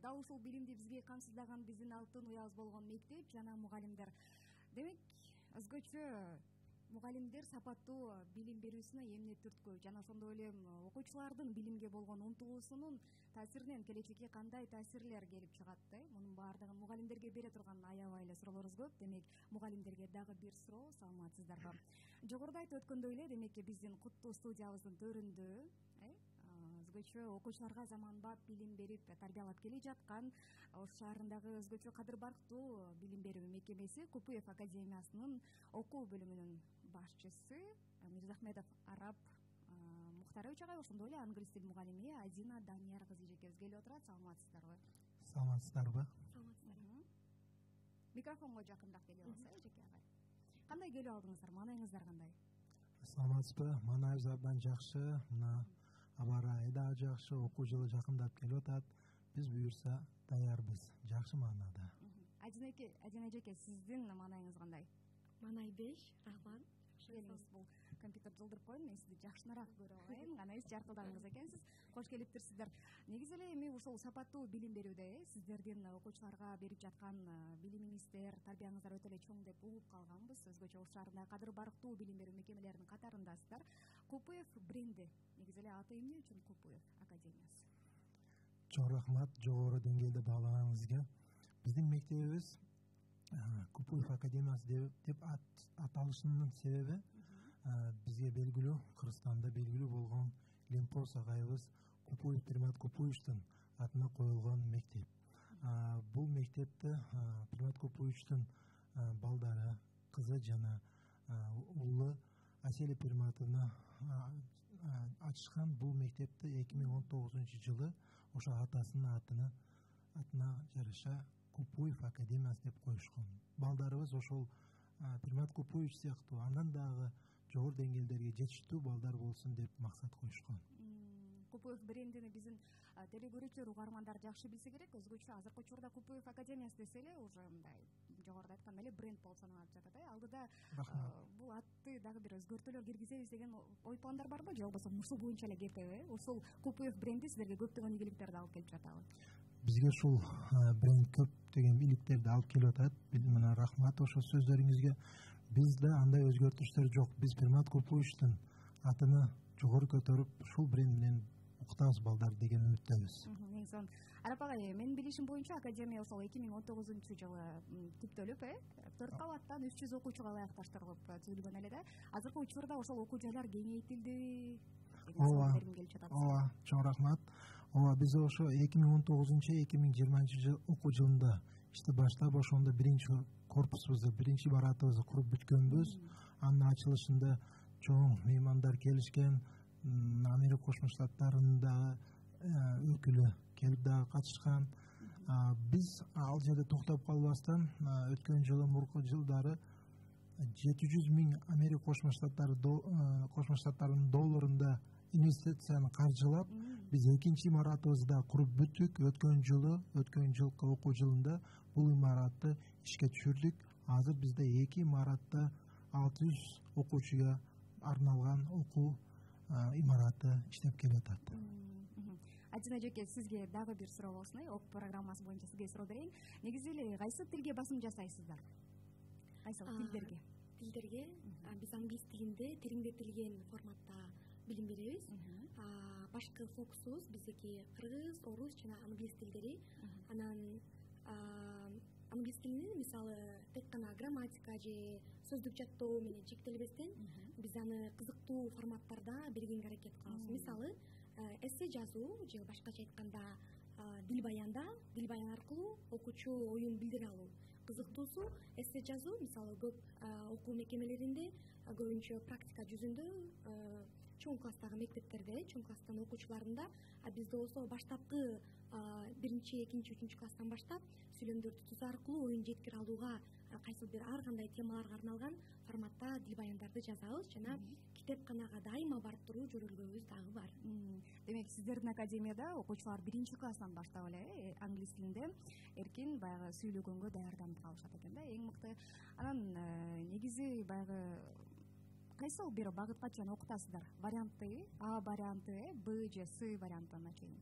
дал ушул билимди бизге камсыздаган биздин алтын уябыз болгон мектеп жана мугалимдер. Демек өзгөчө мугалимдер сапаттуу билим берүүсүнө эмне түрткү жана ошондой эле окуучулардын билимге болгон умтулуусунун таасиринен келечекке кандай таасирлер келип чыгат? Мунун баардыгын мугалимдерге бере турган аябай эле суроолорубуз көп. Демек мугалимдерге дагы бир суроо. Саламатсыздарбы? Жогоруда айтып өткөндөй эле, демек биздин куттуу студиябыздын төрүндө өзгөчө окуучуларга заманбап билим берип тарбиялап келе жаткан Ош шаарындагы өзгөчө кадыр барктуу билим берүү мекемеси Купуев академиясынын окуу бөлүмүнүн башчысы Мирзахметов Арап Мухтарович агай, ошондой эле англис тил мугалими Адина Данияр кызы эжекебиз келип отурат. Саламатсыздарбы? Саламатсыздарбы? Саламатсыздарбы. Микрофонго жакындап келип алсаңыз, эжеке агай. Кандай келип алдыңыздар? Маанайыңыздар кандай? Саламатсызбы? Маанайыбыз абдан жакшы. Мына аба ырайы да жакшы, окуу жылы жакындап келип атат. Биз буюрса даярбыз. Жакшы маанада. Адина эжеке, сиздин маанайыңыз кандай? Маанай 5, рахмат. Келиңиз, бул компьютер жылдырып коеюн, мен сизди жакшыраак көрүп алайын. Анайыз жаркылдаңыз экенсиз. Кош келиптирсиздер. Негизи эле эми ушул сапаттуу билим берүүдө сиздердин окуучуларга берип жаткан билимиңиздер, тарбияңыздар өтө эле чоң деп угуп калганбыз. Өзгөчө Ош шаарындагы кадыр барктуу билим берүү мекемелеринин катарындасыздар. Купуев бренди, негизи эле аты эмне үчүн Купуев академиясы? Чоң рахмат жогору деңгээлде баалаганыңызга. Биздин мектебибиз Купуев академиясы деп аталышынын себеби бизге белгилүү, Кыргызстанда белгилүү болгон Лимпос агайыбыз Купуев Примат Купуевичтин атына коюлгон мектеп. Бул мектепти Примат Купуевичтин балдары, кызы жана уулу Аселя Приматовна ачышкан. Бул мектепти 2019-жылы ошо атасынын атына жараша Купуев академиясы деп коюшкан. Балдарыбыз ошол Примат Купуевич сыяктуу андан дагы жогору деңгээлдерге жетиштүү балдар болсун деп максат коюшкан. Купуев брендини биздин телекөрүүчүлөр, угармандар жакшы билсе керек. Өзгөчө азыркы учурда Купуев академиясы десе эле уже мындай жогоруда айткандай эле бренд болуп саналып жатат. Алдыда бул атты дагы бир өзгөртүүлөр киргизебиз деген ой пландар барбы, же болбосо ушул боюнча эле кетеби? Ушул Купуев бренди сиздерге көптөгөн ийгиликтерди алып келип жатабы? Бизге ушул бренд көптөгөн ийгиликтерди алып келип атат. Мына рахмат ошол сөздөрүңүзгө. Бизде андай өзгөртүштөр жок. Биз Примат Купуевичтин атыны жогору көтөрүп, ушул бренд менен укутабыз балдар деген үмүттөбүз. Негизи Арап агай, менин билишим боюнча академия ошол 2019-жылы түптөлүп, 4 кабаттан 300 окуучуга ылайыкташтырылып түзүлгөн эле да. Азыркы учурда ошол окуу жайлар кеңейтилди. Ооба, чоң рахмат. Биз ошо 2019-2020 окуу жылында баштап ошондо биринчи корпусубузду, биринчи баратыбызды куруп бүткөнбүз. Анын ачылышында чоң меймандар келишкен, Америка Кошмо Штаттарынын дагы өкүлү келип дагы катышкан. Биз ал жерде токтоп калбастан өткөн жылы, мурунку жылдары 700 миң Америка Кошмо Штаттарынын долларында инвестицияны каржылап, биз экинчи имаратыбызды да куруп бүттүк. Өткөн жылкы окуу жылында бул имаратты ишке түшүрдүк. Азыр бизде 2 имаратта 600 окуучуга арналган окуу имараты иштеп келатат. Адина эжеке, сизге дагы бир суроо болсун. ОК программасы боюнча сизге суроо берейин. Негизи эле кайсы тилге басым жасайсыздар? Кайсы тилдерге? Биз англис тилинде териңдетилген форматта билим беребиз. Башкы фокусубуз биздики кыргыз, орус жана англис тилдери. Анан англис тилинин мисалы тек гана грамматика же сөздүк жаттоо менен чектелбестен биз аны кызыктуу форматтарда бергенге аракет кылабыз. Мисалы эссе жазуу же башкача айтканда дил баян аркылуу окуучу оюн билдире алуу. Кызыктуусу эссе жазуу мисалы көп окуу мекемелеринде көбүнчө практика жүзүндө чоң класстагы мектептерде, чоң класстын окуучуларында, бизде болсо баштапкы 1-2-3 класстан баштап сүйлөмдөрдү түзүү аркылуу оюн жеткире алууга кайсы бир ар кандай темаларга арналган форматта дил баяндарды жазабыз жана китепканага дайыма барып туруу жөрөлгөбүз дагы бар. Демек сиздердин академияда окуучулар 1-чи класстан баштап эле англис тилинде эркин баягы сүйлөгөнгө даярданып калышат экен да, эң мыкты. Анан негизи баягы кайсы бир багытка чейин окутасыздар? Варианты А варианты, Б же С вариантына чейин?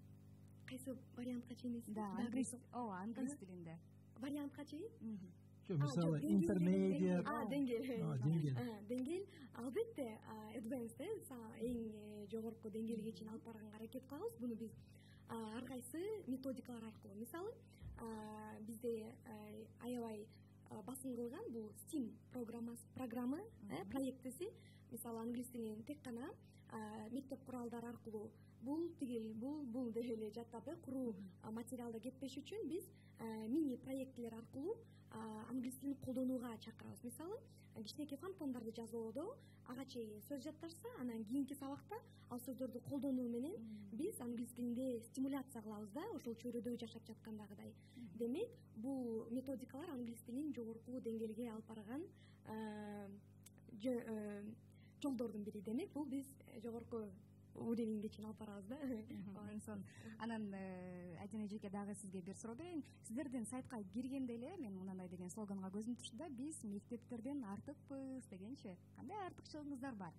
кайсы вариантка чейин да, англис тилинде вариантка чейин мисалы интермедиат деңгээл албетте advanced эң жогорку деңгээлге чейин алып барганга аракет кылабыз. Буну биз ар кайсы методикалар аркылуу, мисалы бизде аябай басым кылган бул STEAM программы проектиси. Мисалы англис тилин тек гана мектеп куралдары аркылуу бул тигил бул деп эле жаттап куруу материалда кетпеш үчүн биз мини проектилер аркылуу англис тилин колдонууга чакырабыз. Мисалы кичинекей фантомдорду жазуудо ага чейин сөз жатташса, анан кийинки сабакта ал сөздөрдү колдонуу менен биз англис тилинде стимуляция кылабыз да, ошол чөйрөдө жашап жаткандагыдай. Демек, бул методикалар англис тилин жогорку деңгээлге алып барган жолдордун бири. Демек, бул биз жогорку уровеньге чейин алып барабыз да. Анан Айдина эжеке, дагы сизге бир суроо берейин. Сиздердин сайтка киргенде эле мен мындай деген слоганга көзүм түштү да: биз мектептерден артыкпыз дегенчи. Кандай артыкчылыгыңыздар бар?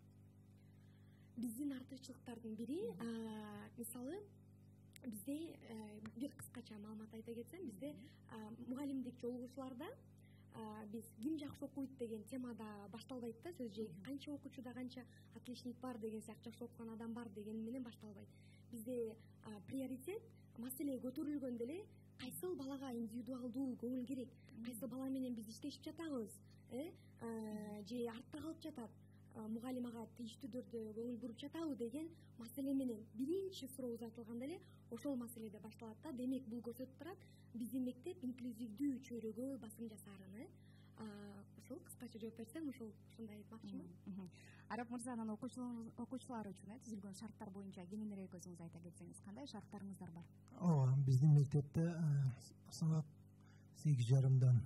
Биздин артыкчылыктардын бири, мисалы, бизде бир кыскача маалымат айта кетсем, бизде мугалимдик жолугушууларда биз ким жакшы окуйт деген темада башталбайт да сөз. Же канча окуучуда канча отличник бар деген сыяктуу, жакшы окуган адам бар деген менен башталбайт. Бизде приоритет маселе көтөрүлгөндө эле кайсыл балага индивидуалдуу көңүл керек, кайсыл бала менен биз иштешип жатабыз, же артта калып жатат, мугалим ага тийиштүү түрдө көңүл буруп жатабы деген маселе менен биринчи сурообуз айтылганда эле ошол маселеде башталат да. Демек, бул көрсөтүп турат биздин мектеп инклюзивдүү чөйрөгө басым жасаарын. Ошол кыскача жооп берсем, ошондой айтмакчымын. Арап мырза, анан окуучулар үчүн түзүлгөн шарттар боюнча кененирээк өзүңүз айта кетсеңиз, кандай шарттарыңыздар бар? Биздин мектепте саат 8:30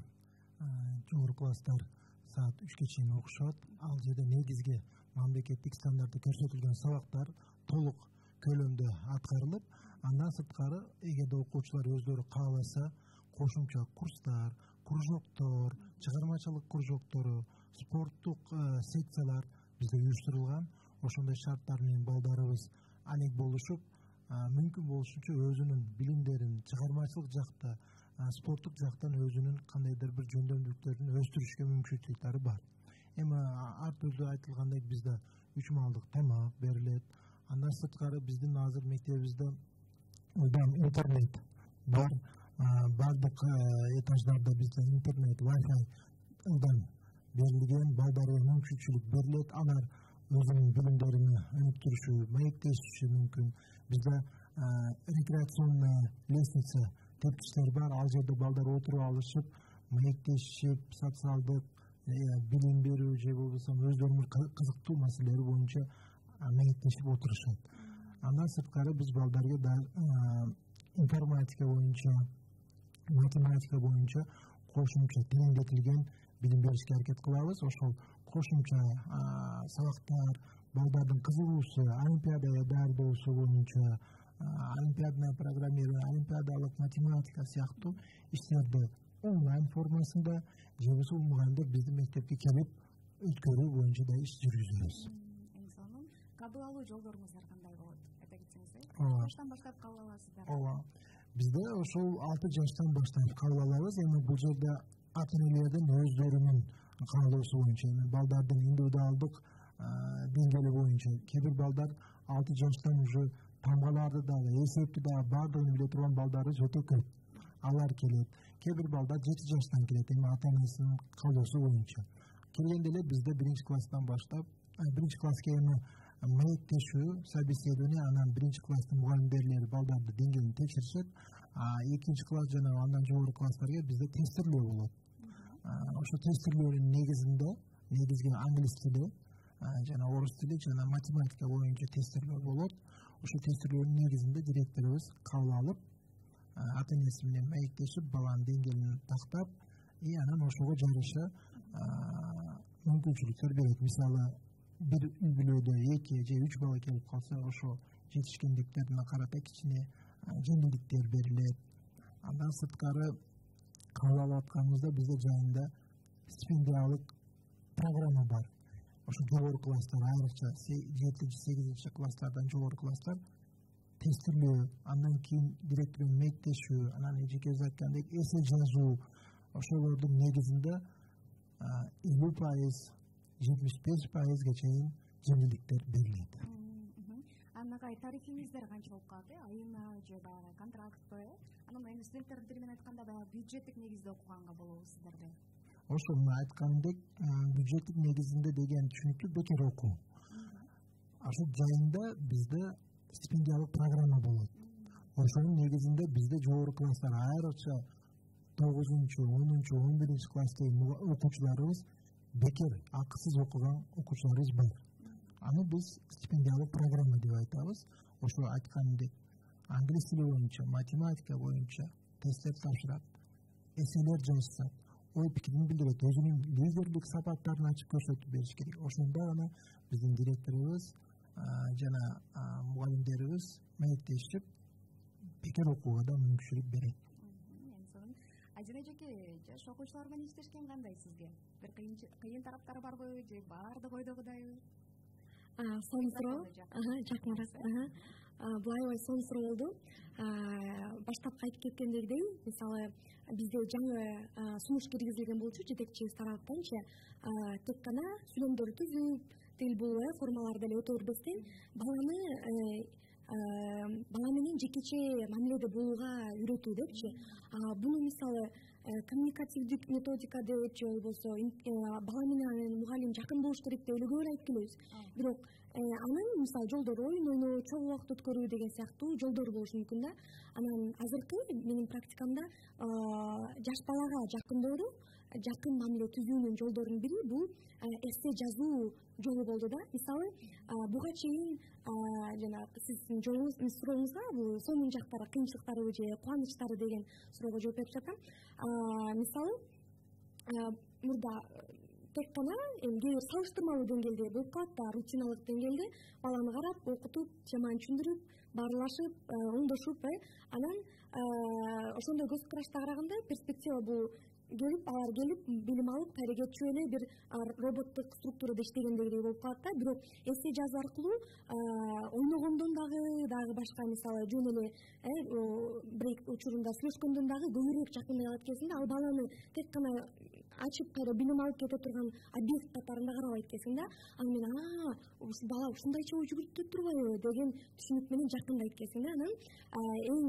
жогорку класстар саат 3-кө чейин окушат. Ал жерде негизги мамлекеттик стандартта көрсөтүлгөн сабактар толук көлөмдө аткарылып, андан сырткары эгерде окуучулар өздөрү кааласа, кошумча курстар, кружоктор, чыгармачылык кружоктору, спорттук секциялар бизде уюштурулган. Ошондой шарттар менен балдарыбыз алек болушуп, мүмкүн болушунча өзүнүн билимдерин чыгармачылык жакта, спорттук жактан өзүнүн кандайдыр бир жөндөмдүүлүктөрүн өстүрүшкө мүмкүнчүлүктөрү бар. Эми ар түрдүү айтылгандай бизде 3 маалдык тамак берилет. Андан сырткары биздин азыр мектебибизде интернет бар. Бардык этаждарда бизде интернет, Wi-Fi берилген, балдарга мүмкүнчүлүк берилет. Алар өзүнүн билимдерин өнүктүрүшү, маектешиши мүмкүн. Бизде рекреационная лестница тепкичтер бар. Ал жерде балдар отуруп алышып, маектешип, социалдык билим берүү же болбосо өздөрүнүн кызыктуу маселелери боюнча маектешип отурушат. Андан сырткары биз балдарга да информатика боюнча, математика боюнча кошумча тереңдетилген билим беришке аракет кылабыз. Ошол кошумча сабактар, балдардын кызыгуусу, олимпиадага даярдоосу боюнча, олимпиадное программирование, олимпиадалык математика сыяктуу иштерди онлайн формасында же болбосо мугалимдер биздин мектепке келип өткөрүү боюнча да иш жүргүзөбүз. Кабыл алуу жолдоруңуздар кандай болот? Айта кетсеңиз, качтан баштап кабыл аласыздар? Бизде ошол 6 жаштан баштап кабыл алабыз. Эми бул жерде ата-энелердин өздөрүнүн каалоосу боюнча, балдардын индивидуалдык деңгээли боюнча, кээ бир балдар 6 жаштан уже тамгаларды дагы, эсепти дагы баардыгын биле турган балдарыбыз өтө көп. Алар келет. Кээ бир балдар 7 жаштан келет, эми ата-энесинин каалоосу боюнча. Келгенде эле бизде 1-класстан баштап, 1-класска эми маектешүү, собеседование, анан 1-класстын мугалимдери балдарды деңгээлин текшеришет. 2-класс жана андан жогору класстарга бизде тестирлөө болот. Ошо тестирлөөнүн негизинде негизги англис тили жана орус тили жана математика боюнча тестирлөө болот. Ошо тестирлөөнүн негизинде директорубуз кабыл алып, ата-энеси менен маектешип, баланын деңгээлин тактап, анан ошого жараша мүмкүнчүлүктөр берет. Мисалы, бир үй бүлөдө 2 же 3 бала келип калса, ошо жетишкендиктерине карата кичине жеңилдиктер берилет. Андан сырткары кабыл алып атканыбызда бизде жайында стипендиялык программа бар. Ошо жогорку класстар, айрыкча 7-8 класстардан жогору класстар тестирлөө, андан кийин директор менен мектештешүү, анан эжеке өзү айткандай эсе жазуу, ошолордун негизинде 50%, 75%га чейин жеңилдиктер берилет. Анагай тарифиңиздер канча болуп калат? Айына же баягы контрактпы? Анан эми студенттердин тили менен айтканда баягы бюджеттик негизде окуганга болобу сиздерде? Ошо айткандек бюджеттик негизинде деген түшүнүктү бекер окуу. Ошол жайында бизде стипендиялык программа болот. Ошонун негизинде бизде жогорку класстар айрыкча 9-10, 11 класстагы окуучуларыбыз бекер акысыз окуган окуучуларыбыз бар. Аны биз стипендиялык программа деп айтабыз. Ошо айткандек англис тили боюнча, математика боюнча тесттер тапшырат, эселер жазышат, ой пикирин билдирет, өзүнүн лидерлик сапаттарын ачып көрсөтүп бериш керек. Ошондо гана биздин директорубуз жана мугалимдерибиз маектешип бекер окууга да мүмкүнчүлүк берет. Ажын эжеке, жаш окуучулар менен иштешкен кандай сизге? Бир кыйын тараптары барбы же баардыгы ойдогудайбы? Сонун суроо. Жакыныраак. Былай сонун суроо болду. Баштапкы айтып кеткендегидей, мисалы бизде жаңы сунуш киргизилген болчу жетекчибиз тараптанчы, тек гана сүйлөмдөрдү түзүп, тил бул формаларды деле өтө бербестен бала менен жекече мамиледе болууга үйрөтүү депчи. Буну мисалы коммуникативдик методика деп же болбосо бала менен мугалим жакын болуш керек деп эле көп эле айтып келебиз. Бирок анын мисалы жолдору оюн ойноо, чогуу убакыт өткөрүү деген сыяктуу жолдору болушу мүмкүн да. Анан азыркы менин практикамда жаш балага жакындоодо жакын мамиле түзүүнүн жолдорунун бири бул эссе жазуу жолу болду да. Мисалы буга чейин жана сиздин сурооңузга бул сонун жактары, кыйынчылыктары же кубанычтары деген суроого жооп берип жатам. Мисалы мурда тек гана кээ бир салыштырмалуу деңгээлде болуп калат да, рутиналык деңгээлде баланы карап, окутуп, теманы түшүндүрүп, баарлашып, оңдошуп, анан ошондой көз карашта караганда перспектива бул алар келип билим алып, кайра кетчү эле бир роботтук структурада иштегендегидей болуп калат да. Бирок эссе жазуу аркылуу ойногондон дагы башка мисалы жөн эле бир учурунда сүйлөшкөндөн дагы көбүрөөк жакындай алат экенсиң да. Ал баланы тек гана ачып кайра билим алып кете турган объект катарында карабайт экенсиң да. Аны мен ушул бала ушундайча ой жүгүртүп турбайбы деген түшүнүк менен жакындайт экенсиң да. Анан эң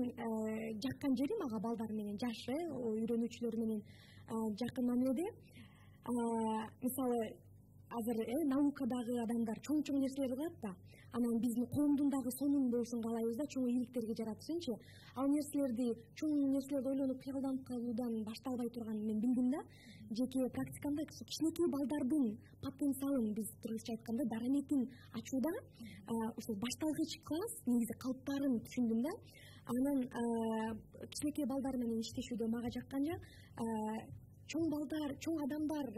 жаккан жери мага балдар менен жаш үйрөнүүчүлөр менен жакын мамиледе мисалы азыр наукадагы адамдар чоң нерселерди кылат да. Анан биздин коомдун дагы сонун болушун каалайбыз да, чоң ийгиликтерге жаратышынчы. Ал нерселерди, чоң нерселерди ойлонуп кыялданып калуудан башталбай турганын мен билдим да. Жеке практикамда кичинекей балдардын потенциалын биз кыргызча айтканда дараметин ачууда ушул башталгыч класс негизи калыптарын түшүндүм да. Анан кичинекей балдар менен иштешүүдө мага жаккан жак чоң балдар, чоң адамдар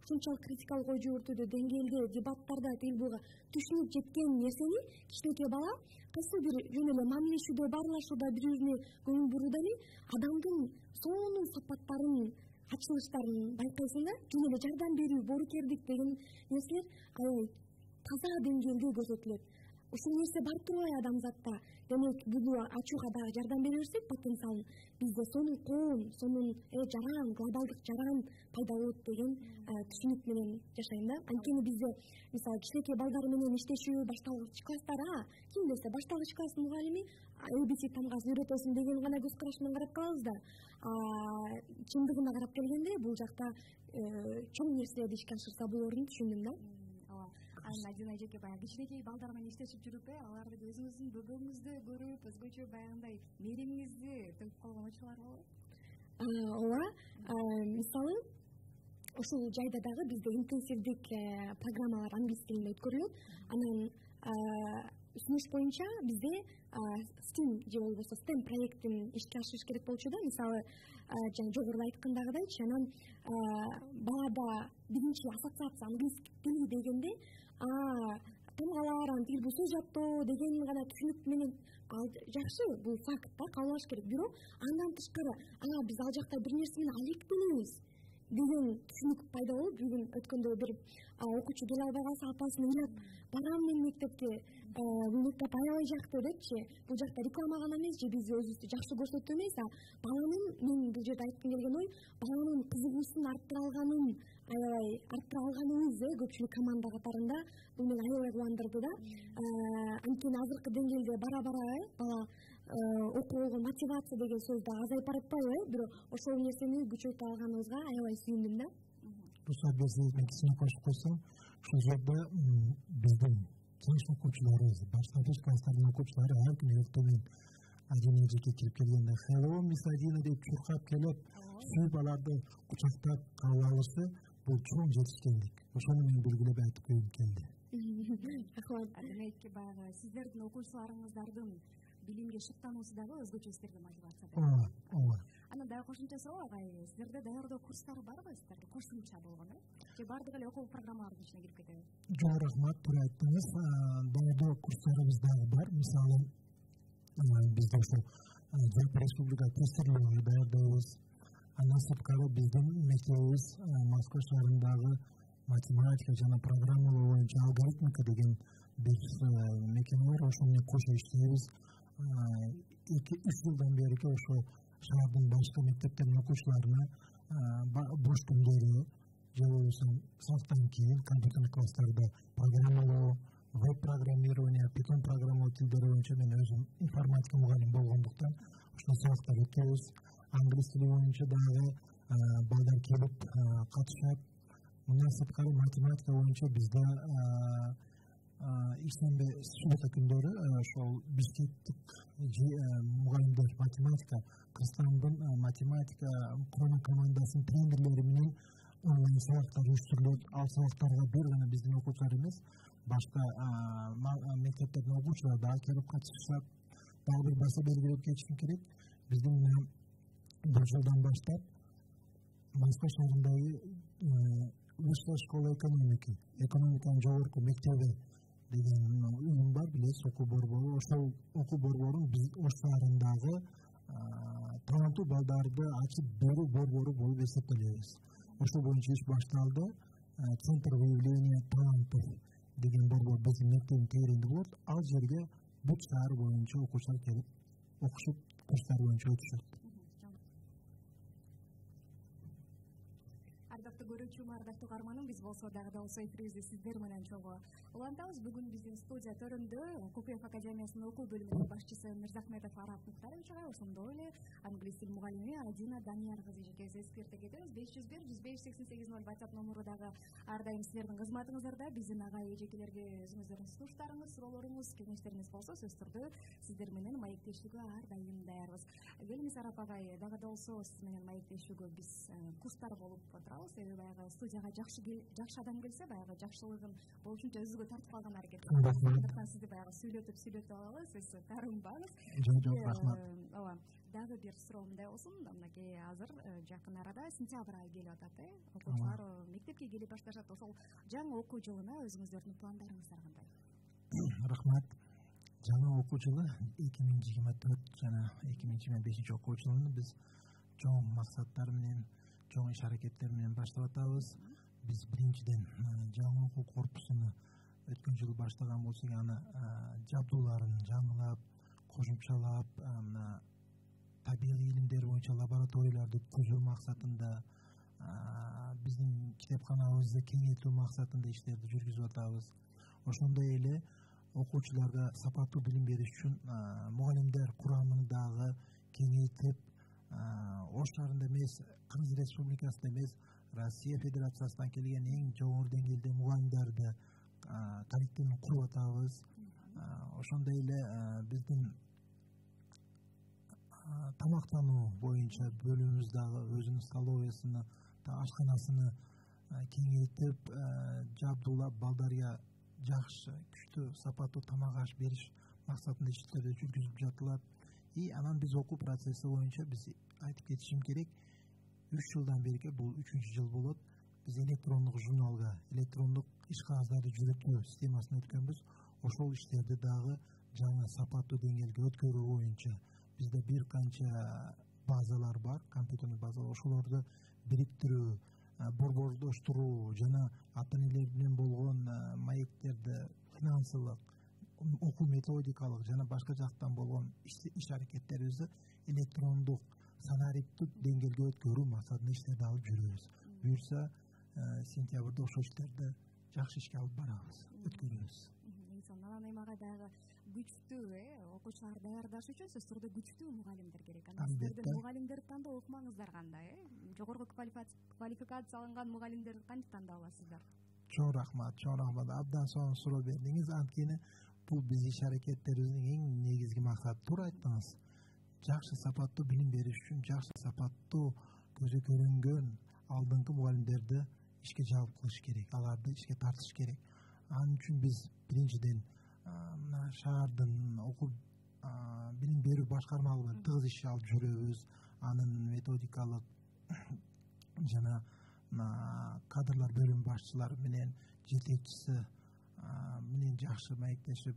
ушунчалык критикалык ой жүгүртүүдө, деңгээлде, дебаттарда, тилбуга түшүнүп жеткен нерсени кичинекей бала кайсы бир жөн эле мамилешүүдө, баарлашууда, бири-бирине көңүл бурууда эле адамдын сонун сапаттарын, ачылыштарын байкайсың да. Жөн эле жардам берүү, боорукердик деген нерселер аябай таза деңгээлде көрсөтүлөт. Ушул нерсе бар турбайбы адамзатта? Демек, буну ачууга дагы жардам бере берсек потенциалын, бизде сонун коом, сонун жаран, глобалдык жаран пайда болот деген түшүнүк менен жашайм да. Анткени бизде мисалы кичинекей балдар менен иштешүү, башталгыч класстар, ким десе башталгыч класстын мугалими ABC тамгасын үйрөтөсүң деген гана көз караш менен карап калабыз да. Чындыгына карап келгенде бул жакта чоң нерселерди ишке ашырса болорун түшүндүм да. Ажын эжеке баягы кичинекей балдар менен иштешип жүрүп, аларды өзүңүздүн бөбөңүздү көрүп, өзгөчө баягындай мээримиңизди төгүп калган учурлар болобу? Ооба. Мисалы ушул жайда дагы бизде интенсивдик программалар англис тилинде өткөрүлөт. Анан сунуш боюнча бизде STEM же болбосо STEM проектин ишке ашырыш керек болчу да. Мисалы жана жогоруда айткандагыдайчы, анан балада биринчи ассоциация англис тили дегенде тамгалар, тил бул сөз жаттоо деген гана түшүнүк менен жакшы, бул факт да, кабыл алыш керек. Бирок андан тышкары биз ал жакта бир нерсе менен алектенебиз деген түшүнүк пайда болуп, бүгүн өткөндө бир окуучу келе албай калса апасын ыйлап барам мен мектепке, бул мектеп аябай жакты депчи. Бул жакта реклама гана эмес же биз өзүбүздү жакшы көрсөтүү эмес, баланын, мен бул жерде айткым келген ой, баланын кызыгуусун арттыра алганыбыз көпчүлүк команда катарында бул мени аябай кубандырды да. Анткени азыркы деңгээлде бара-бара бала окууга болгон мотивация деген сөз да азайып баратпайбы, бирок ошол нерсени күчөйтө алганыбызга аябай сүйүндүм да. Русат берсеңиз, мен кичине кошуп койсом, ушул жерде биздин жаш окуучуларыбыз, баштапкыч класстардын окуучулары ар күнү эртең Адинежеке кирип келгенде "Hello, Miss Adina" деп чуркап келип, сүйүп аларды кучактап кабыл алышы бул чоң жетишкендик. Ошону мен белгилеп айтып койгум келди. Рахмат. Демек, баягы сиздердин окуучуларыңыздардын билимге шыктануусу дагы өзгөчө сиздерге мотивация берет. Ооба. Анан дагы кошумча суроо, агай, сиздерде даярдоо курстары барбы сиздерде? Кошумча болгон, же бардыгы эле окуу программалардын ичине кирип кетеби? Жок, рахмат, туура айттыңыз. Даярдоо курстарыбыз дагы бар. Мисалы, бизде ошол Жалпы республика тестирлөө даярдайбыз. Андан сырткары биздин мектебибиз Москва шаарындагы математика жана программалоо боюнча алгоритмика деген бир мекеме бар. Ошо менен кошо иштейбиз. 2-3 жылдан бери ошо шаардын башка мектептеринин окуучуларына бош күндөрү же болбосо сабактан кийин компьютердик класстарда программалоо, веб-программирование, Python программалоо тилдери боюнча мен өзүм информатика мугалими болгондуктан ушул сабактар өтөбүз. Англис тили боюнча дагы балдар келип катышат. Мындан сырткары математика боюнча бизде ишембе суббота күндөрү ошол бишкектик мугалимдер математика Кыргызстандын математика курама командасынын тренерлери менен онлайн сабактар уюштурулат. Ал сабактарга бир гана биздин окуучулар эмес, башка мектептердин окуучулары дагы келип катышышат. Дагы бир баса белгилеп кетишим керек. Биздин бул жылдан баштап Москва шаарындагы Высшая школа экономики, экономиканын жогорку мектеби деген уюм бар, билесиз, окуу борбору. Ошол окуу борборун биз Ош шаарындагы таланттуу балдарды ачып берүү борбору болуп эсептелебиз. Ошол боюнча иш башталды. Центр выявления талантов деген борбор биздин мектептин тегерегинде болот. Ал жерге бүт шаар боюнча окуучулар келип окушуп, курстар боюнча өтүшөт. Ардактуу көрүүчүм, ардактуу каарманым, биз болсо дагы эфирибизди сиздер менен чогуу улантабыз. Бүгүн биздин студия төрүндө Кукуев академиясынын окуу бөлүмүнүн башчысы Мырзахметов Арап Муктаровичга, ошондой эле англис тил мугалими Адина Данияр кызы жекебиз эскерте кетебиз. 501-105-88-0 WhatsApp номуру дагы ар дайым сиздердин кызматыңыздарда. Биздин агай эжекелерге өзүңүздөрдүн сунуштарыңыз, суроолоруңуз, кеңештериңиз болсо сөзсүздө сиздер менен маектешүүгө ар дайым даярбыз. Келиңиз Арап агай, дагы болсо сиз менен маектешүүгө биз курстар болуп отурабыз. Себеби баягы студияга жакшы адам келсе, баягы жакшылыгын болушунча өзүгө тартып калган аракет кылабыз. Андыктан сизди баягы сүйлөтүп алалы, сиз таарынбаңыз. Жок, рахмат. Ооба. Дагы бир суроом мындай болсун. Мынакей азыр жакын арада сентябрь айы келип атат, окуучулар мектепке келип башташат. Ошол жаңы окуу жылына өзүңүздөрдүн пландарыңыздар кандай? Рахмат. Жаңы окуу жылы 2024 жана 2025 окуу жылын биз чоң максаттар менен, чоң иш аракеттер менен баштап атабыз. Биз биринчиден жаңы окуу корпусуну өткөн жылы баштаган болсок, аны жабдууларын жаңылап, кошумчалап, табигый илимдер боюнча лабораторияларды түзүү максатында, биздин китепканабызды кеңейтүү максатында иштерди жүргүзүп атабыз. Ошондой эле окуучуларга сапаттуу билим бериш үчүн мугалимдер курамын дагы кеңейтип, Ош шаарында эмес, Кыргыз Республикасында эмес, Россия Федерациясынан келген эң жогору деңгээлде мугалимдерди коллективин куруп атабыз. Ошондой эле биздин тамактануу боюнча бөлүмүбүз дагы өзүнүн столовыйсыны, ашканасыны кеңейтип, жабдуулап, балдарга жакшы, күчтүү, сапаттуу тамак аш бериш максатында иштерди жүргүзүп жатылат. И анан биз окуу процесси боюнча биз айтып кетишим керек, 3 жылдан бери, бул 3-чү жыл болот, биз электрондук журналга, электрондук иш кагаздарды жүктөө системасына өткөнбүз. Ошол иштерди дагы жаңы сапаттуу деңгээлге өткөрүү боюнча бизде бир канча базалар бар, компьютердик базалар. Ошолорду бириктирүү, борбордоштуруу жана ата энелер менен болгон маектерди финансылык, окуу методикалык жана башка жактан болгон иш аракеттерибизди электрондук санариптик деңгээлге өткөрүү максатында иштерди алып жүрөбүз. Буюрса сентябрда ошол иштерди жакшы ишке алып барабыз, өткөрөбүз. Анан эми ага дагы күчтүү окуучуларды даярдаш үчүн сөзсүз түрдө күчтүү мугалимдер керек. Анан сиздердин мугалимдерди тандоо ыкмаңыздар кандай? Жогорку квалификация алынган мугалимдерди кантип тандап аласыздар? Чоң рахмат. Абдан сонун суроо бердиңиз. Анткени бул биз иш аракеттерибиздин эң негизги максаты. Туура айттыңыз. Жакшы сапаттуу билим бериш үчүн жакшы сапаттуу көзү көрүнгөн алдыңкы мугалимдерди ишке жалп кылыш керек, аларды ишке тартыш керек. Анын үчүн биз биринчиден мына шаардын окуу билим берүү башкармалыгы менен тыгыз иш алып жүрөбүз. Анын методикалык жана кадрлар бөлүм башчылары менен жетекчиси менен жакшы маектешип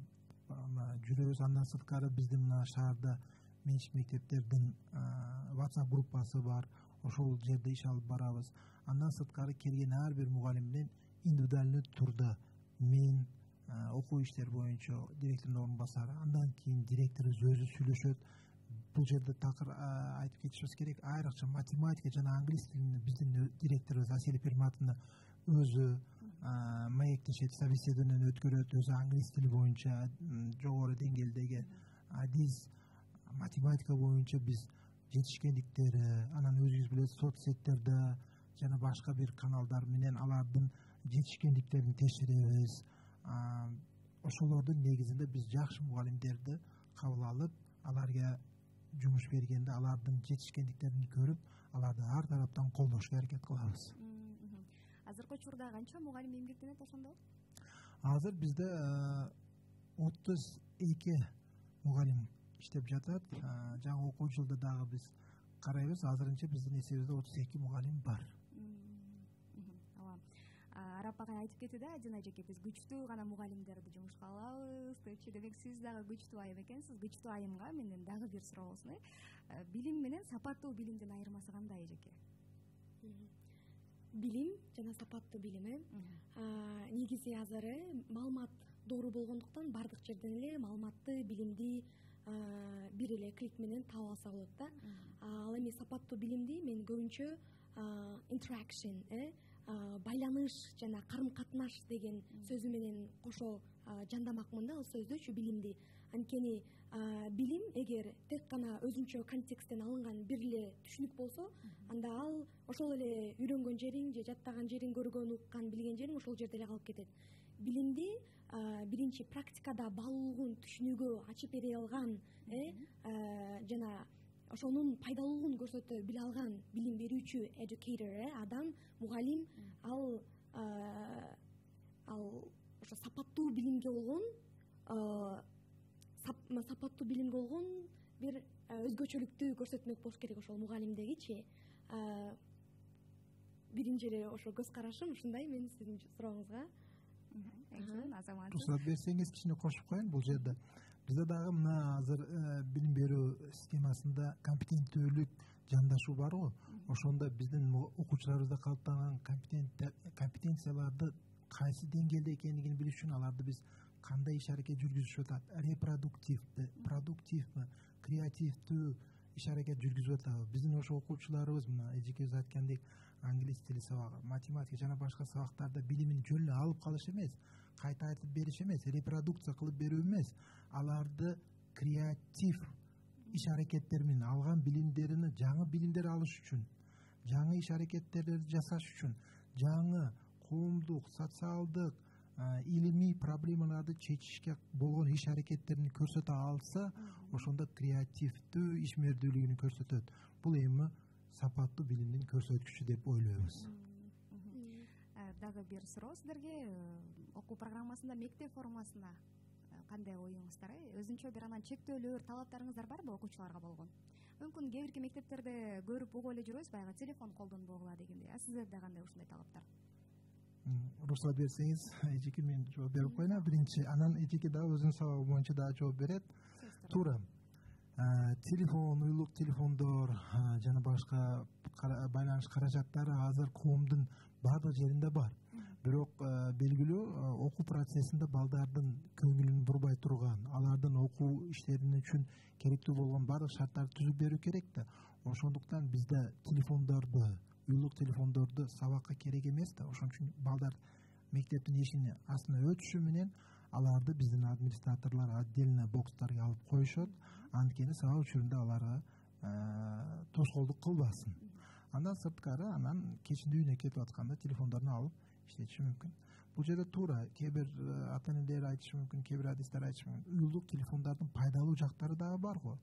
жүрөбүз. Андан сырткары биздин мына шаарда менчик мектептердин WhatsApp группасы бар. Ошол жерде иш алып барабыз. Андан сырткары келген ар бир мугалим менен индивидуальный турда мен окуу иштери боюнча директордун орун басары, андан кийин директорубуз өзү сүйлөшөт. Бул жерде такыр айтып кетишибиз керек. Айрыкча математика жана англис тилин биздин директорубуз Асель Перматовна өзү маектешет, собеседование өткөрөт. Өзү англис тили боюнча жогору деңгээлдеги адис, математика боюнча биз жетишкендиктери, анан өзүңүз билесиз, соцсеттерде жана башка бир каналдар менен алардын жетишкендиктерин текшеребиз. Ошолордун негизинде биз жакшы мугалимдерди кабыл алып, аларга жумуш бергенде алардын жетишкендиктерин көрүп, аларды ар тараптан колдошко аракет кылабыз. Азыркы учурда канча мугалим эмгектенет ошондо? Азыр бизде 32 мугалим иштеп жатат. Жаңы окуу жылда дагы биз карайбыз. Азырынча биздин эсебибизде 32 мугалим бар. Арап агай айтып кетти да, Адина эжеке, биз күчтүү гана мугалимдерди жумушка алабыз депчи. Демек сиз дагы күчтүү айым экенсиз. Күчтүү айымга менден дагы бир суроо болсун. Билим менен сапаттуу билимдин айырмасы кандай эжеке? Билим жана сапаттуу билим негизи азыр маалымат доору болгондуктан баардык жерден эле маалыматты, билимди бир эле клик менен таап алса болот да. Ал эми сапаттуу билимди мен көбүнчө interaction, байланыш жана карым катнаш деген сөзү менен кошо жандамакмын да ал сөздүчү билимди. Анткени билим эгер тек гана өзүнчө контексттен алынган бир эле түшүнүк болсо, анда ал ошол эле үйрөнгөн жериң же жаттаган жериң, көргөн, уккан, билген жериң ошол жерде эле калып кетет. Билимди биринчи практикада баалуулугун, түшүнүүгө ачып бере алган жана ошонун пайдалуулугун көрсөтө биле алган билим берүүчү educator, адам, мугалим, ал ошо сапаттуу билимге болгон бир өзгөчөлүктү көрсөтмөк болуш керек ошол мугалимдегичи. Биринчи эле ошо көз карашым ушундай мен сиздин сурооңузга. Рұқсат берсеңиз кичине кошуп коеюн бул жерде. Бизде дагы мына азыр билим берүү системасында компетенттүүлүк жандашуу барбы? Ошондо биздин окуучуларыбызда калыптанган компетенцияларды кайсы деңгээлде экендигин билиш үчүн аларды биз кандай иш аракет жүргүзүшүп атат? Репродуктивдүү, продуктивдүү, креативдүү иш аракет жүргүзүп атабы? Биздин ошо окуучуларыбыз мына эжекебиз айткандек англис тили сабагы, математика жана башка сабактарда билимин жөн эле алып калыш эмес, кайта айтып бериш эмес, репродукция кылып берүү эмес, аларды креатив иш аракеттер менен алган билимдерини жаңы билимдер алыш үчүн, жаңы иш аракеттерди жасаш үчүн, жаңы коомдук, социалдык, илимий проблемаларды чечишке болгон иш аракеттерин көрсөтө алса, ошондо креативдүү ишмердүүлүгүн көрсөтөт. Бул эми сапаттуу билимдин көрсөткүчү деп ойлойбуз. Дагы бир суроо сиздерге. Окуу программасында мектеп формасына кандай оюңуздар? Өзүнчө бир анан чектөөлөр, талаптарыңыздар барбы окуучуларга болгон? Мүмкүн кээ бирки мектептерде көрүп угуп эле жүрөбүз, баягы телефон колдонбогула дегендей. Сиздерде кандай ушундай талаптар? Рұқсат берсеңиз, эжеке мен жооп берип коеюн. Биринчи, анан эжеке дагы өзүнүн сабагы боюнча дагы жооп берет. Туура. телефон, уюлук телефондор жана башка байланыш каражаттары азыр коомдун баардык жеринде бар. Бирок белгилүү окуу процессинде балдардын көңүлүн бурбай турган, алардын окуу иштерин үчүн керектүү болгон баардык шарттарды түзүп берүү керек да. Ошондуктан бизде телефондорду, уюлук телефондорду сабакка керек эмес да. Ошон үчүн балдар мектептин эшигинин астына өтүшү менен аларды биздин администраторлор отдельно бокстарга алып коюшат. Анткени сабак учурунда аларга тоскоолдук кылбасын. Андан сырткары, анан кечинде үйүнө кетип атканда телефондорун алып иштетиши мүмкүн. Бул жерде туура кээ бир ата энелер айтышы мүмкүн, кээ бир адистер айтышы мүмкүн. Уюлдук телефондордун пайдалуу жактары дагы бар го.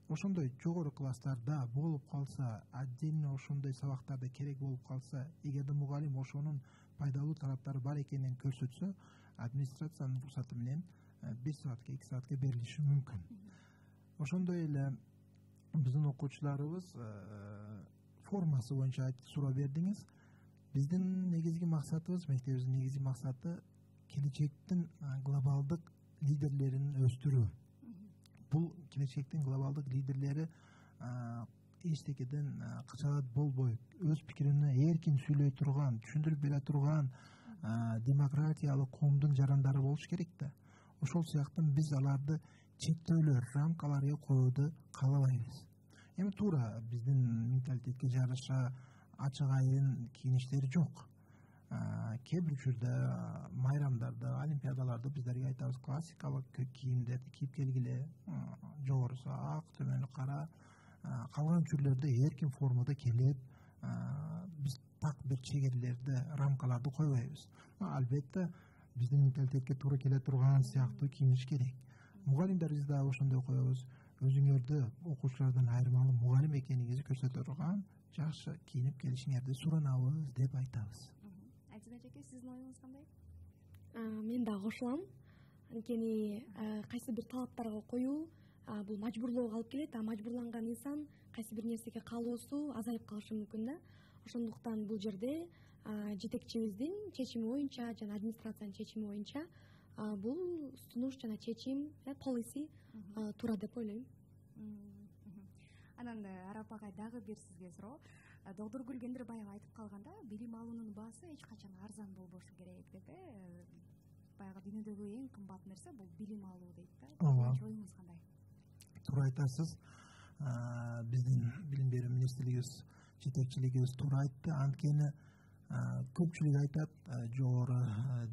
Ошондой жогору класстарда болуп калса, отдельно ошондой сабактарда керек болуп калса, эгерде мугалим ошонун пайдалуу тараптары бар экенин көрсөтсө, администрациянын уруксаты менен 1 саатка, 2 саатка берилиши мүмкүн. Ошондой эле биздин окуучуларыбыз формасы боюнча суроо бердиңиз. Биздин негизги максатыбыз, мектебибиздин негизги максаты келечектин глобалдык лидерлерин өстүрүү. Бул келечектин глобалдык лидерлери эчтекеден кычалат болбой, өз пикирин эркин сүйлөй турган, түшүндүрүп бере турган демократиялык коомдун жарандары болуш керек да. Ошол сыяктуу биз аларды чектөөлөр, рамкаларга коюуду каалабайбыз. Эми туура биздин менталитетке жараша ачык айрын кийиништер жок. Кээ бир учурда майрамдарда, олимпиадаларда биздерге айтабыз классикалык кийимдерди кийип келгиле, жогорусу ак, төмөнү кара. Калган учурларда эркин формада келип, биз так бир чегерлерди, рамкаларды койбойбуз. Албетте биздин менталитетке туура келе турган сыяктуу кийиниш керек. Мугалимдерибиз дагы ошондой коебуз. Өзүңөрдү окуучулардан айырмалуу мугалим экениңизди көрсөтө турган жакшы кийинип келишиңерди суранабыз деп айтабыз. Альтина эже, сиздин оюңуз кандай? Мен дагы кошулам. Анткени кайсы бир талаптарга коюу бул мажбурлоого алып келет, мажбурланган инсан кайсы бир нерсеге каалоосу азайып калышы мүмкүн да. Ошондуктан бул жерде жетекчибиздин чечими боюнча жана администрациянын чечими боюнча бул сунуш жана чечим, полиси туура деп ойлойм. Анан Арап агай, дагы бир сизге суроо. Доктор Гүлгендир баягы айтып калганда, билим алуунун баасы эч качан арзан болбошу керек деп, баягы дүйнөдөгү эң кымбат нерсе бул билим алуу дейт да. Оюңуз кандай? Туура айтасыз. Биздин билим берүү министрлигибиз, жетекчилигибиз туура айтты. Анткени көпчүлүк айтат, жогору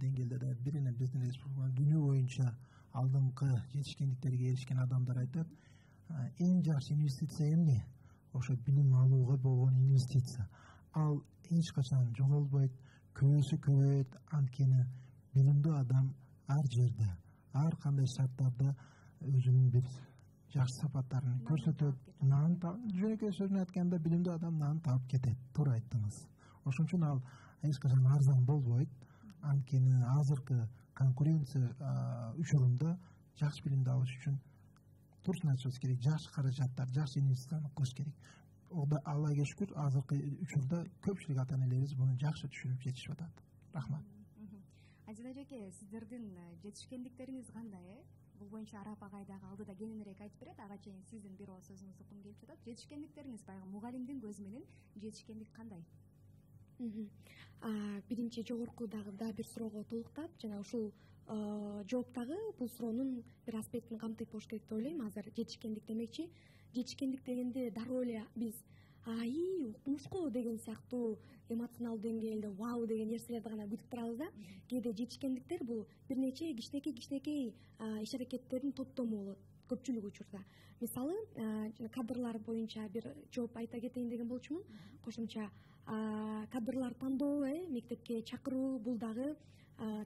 деңгээлде да бирине биздин республика дүйнө боюнча алдыңкы жетишкендиктерге эришкен адамдар айтат, эң жакшы инвестиция эмне? Ошо билим алууга болгон инвестиция. Ал эч качан жоголбойт, көбөйсө көбөйөт. Анткени билимдүү адам ар жерде, ар кандай шарттарда өзүнүн бир жакшы сапаттарын көрсөтөт. Жөнөкөй сөзүн айтканда, билимдүү адам нан таап кетет. Туура айттыңыз. Ошон үчүн ал эч качан арзан болбойт. Анткени азыркы конкуренция учурунда жакшы билимди алыш үчүн турсун айтышыбыз керек, жакшы каражаттар, жакшы инвестицияны кылыш керек. Аллага шүкүр, азыркы учурда көпчүлүк ата энелерибиз муну жакшы түшүнүп жетишип атат. Рахмат. Альтина эже, сиздердин жетишкендиктериңиз кандай? Бул боюнча Арап агай дагы алдыда кененирээк айтып берет. Ага чейин сиздин бир ооз сөзүңүздү уткум келип жатат. Жетишкендиктериңиз баягы мугалимдин көзү менен жетишкендик кандай? Биринчи жогоркудагы да бир суроого толуктап, жана ушул жооптагы бул суроонун бир аспектин камтыйт болуш керек деп ойлойм. Азыр жетишкендик демекчи, жетишкендик дегенде дароо эле биз укмушко деген сыяктуу эмоционалдуу деңгээлде вау деген нерселерди гана күтүп турабыз да. Кээде жетишкендиктер бул бир нече кичинекей иш аракеттердин топтому болот көпчүлүк учурда. Мисалы, кадрлар боюнча бир жооп айта кетейин деген болчумун. Кошумча кадрлар тандоо, мектепке чакыруу, бул дагы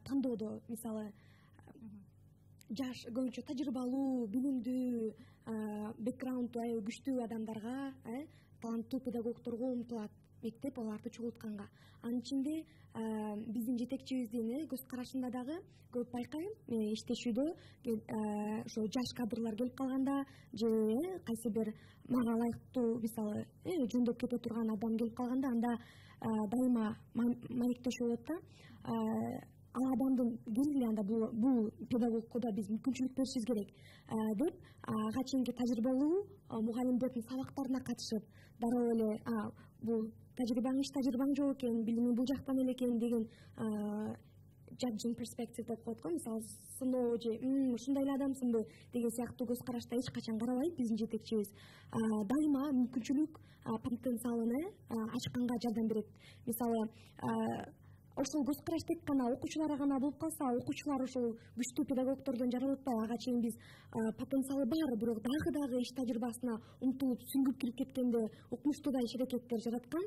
тандоодо, мисалы, жаш, көбүнчө тажрыйбалуу, билимдүү, бэкграунду аябай күчтүү адамдарга, таланттуу педагогдорго умтулат мектеп аларды чогултканга. Анын ичинде биздин жетекчибиздин көз карашында дагы көп байкайм, иштешүүдө ошо жаш кадрлар келип калганда же кайсы бир мага ылайыктуу, мисалы, жөндөп кете турган адам келип калганда, анда дайыма маектешип болот да. ал адамдын келгиле анда бул педагогко да биз мүмкүнчүлүк беришибиз керек деп ага чейинки тажрыйбалуу мугалимдердин сабактарына катышып дароо эле бул тажрыйбаң жок экен, билимиң бул жактан эле экен деген judging perspective деп коет го, мисалы сыноо же ушундай эле адамсыңбы деген сыяктуу көз карашта эч качан карабайт биздин жетекчибиз. Дайыма мүмкүнчүлүк потенциалын ачканга жардам берет. Мисалы ошол көз караш тек гана окуучуларга гана болуп калса, окуучулар ошол күчтүү педагогдордон жаралатпай, ага чейин биз потенциалы бар, бирок дагы иш тажрыйбасына умтулуп сүңгүп кирип кеткенде укмуштуудай иш-аракеттер жараткан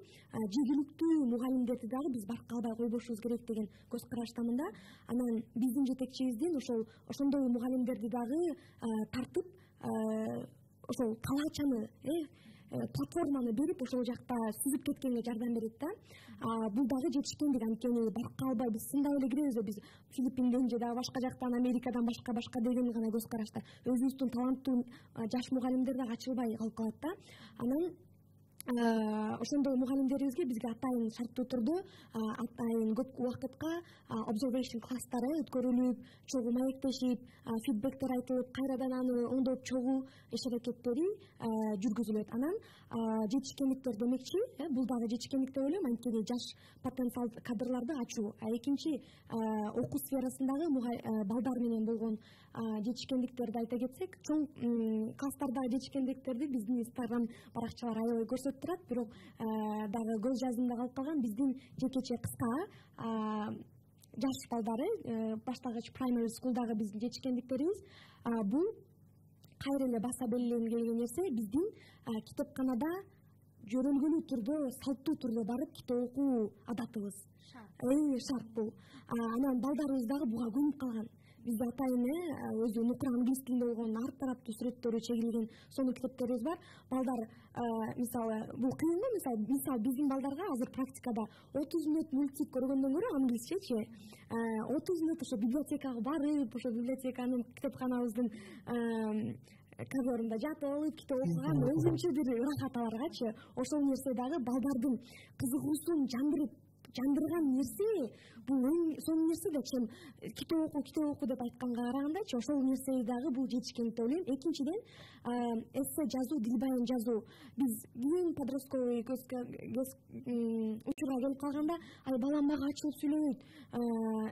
жергиликтүү мугалимдерди дагы биз баркка албай койбошубуз керек деген көз караштамын да. Анан биздин жетекчибиздин ошондой мугалимдерди дагы тартып ошол талаачаны платформаны берип ошол жакта сүзүп кеткенге жардам берет да. Бул дагы жетишкендик, анткени баркка албай биз сындай эле киребиз да, биз Филиппинден же дагы башка жактан, Америкадан башка деген гана көз карашта өзүбүздүн таланттуу жаш мугалимдер дагы ачылбай калып калат да. Анан ошондой мугалимдерибизге бизге атайын шарттуу түрдө атайын көп убакытка observation класстары өткөрүлүп, чогуу маектешип, фидбектер айтылып, кайрадан аны оңдоп чогуу иш-аракеттери жүргүзүлөт. Анан жетишкендиктер демекчи, бул дагы жетишкендик деп ойлойм, анткени жаш потенциал кадрларды ачуу. Экинчи окуу сферасындагы балдар менен болгон жетишкендиктерди айта кетсек, чоң класстардагы жетишкендиктерди биздин Instagram баракчалар аябай көрсөтүп турат, бирок дагы көз жаздымда калып калган биздин жекече кыска жаш балдары, баштагыч primary school'дагы биздин жетишкендиктерибиз, бул кайра эле баса белгилегим келген нерсе, биздин китепканада жөрөлгөлүү түрдө, салттуу түрдө барып китеп окуу адатыбыз. Шарт бул. Анан балдарыбыз дагы буга көнүп калган. Бизде атайын өзү нукура англис тилинде болгон ар тараптуу сүрөттөрү чегилген сонун китептерибиз бар. Балдар мисалы бул кыйын го, мисалы биздин балдарга азыр практикада 30 мүнөт мультик көргөндөн көрө англисчечи 30 мүнөт ошо библиотекага барып, ошо библиотеканын китепканабыздын коридорунда жатып алып китеп окуган өзүнчө бир ырахат аларгачы. Ошол нерсе дагы балдардын кызыгуусун жандырган нерсе, бул сонун нерсе да, чем китеп оку деп айтканга карагандачы, ошол нерсе дагы бул жетишкендик деп ойлойм. Экинчиден, эссе жазуу, дилбаян жазуу. Биз кийин подростковый учурга келип калганда, балам мага ачылып сүйлөбөйт,